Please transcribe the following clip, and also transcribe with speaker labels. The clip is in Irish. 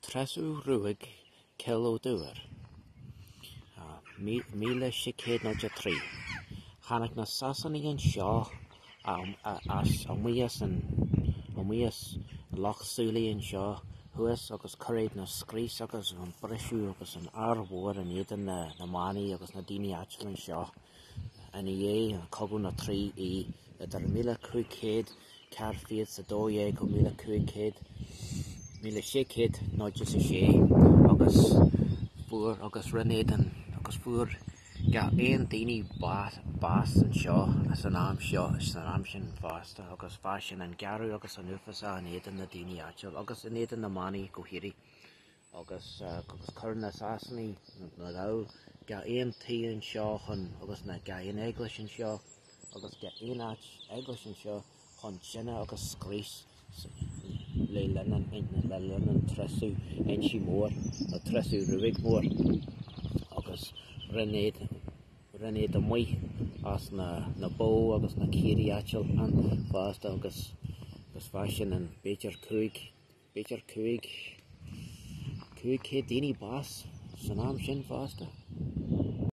Speaker 1: Treasú Ruaig Cill Ó Dubhair, 1603. Tháinig na Sasanaigh anseo as amuigh as an amuigh as Loch Súilí anseo thuas agus chuir iad na scrios agus an briseadh agus an ár mhór in éadan na manaigh agus na daoine áitiúla anseo ina dhiaidh an Cogadh na dTrí Aodh idir 1500 412 go 1500, 1606 agus fuair agus rinne iad an agus fuair gach aon daoine bás bás anseo san am seo san am sin fosta agus bha sin an gearradh agus an uafásach in éadan na daoine áitiúil agus in éadan na manaigh go háirithe agus agus chuir na Sasanaigh na Gaill gach aon tí anseo chun agus na gach aon eaglais anseo agus gach aon áit eaglais anseo chun tine agus scrios le linn an le linn an treasú Inse Mór nó treasú Ruaig Mór agus rinne iad rinne iad amuigh as na na bó agus na caoirigh áitiúil ann fosta agus agus bha sin an b'fhéidir 5 b'fhéidir 5 500 daoine bás san am sin fosta.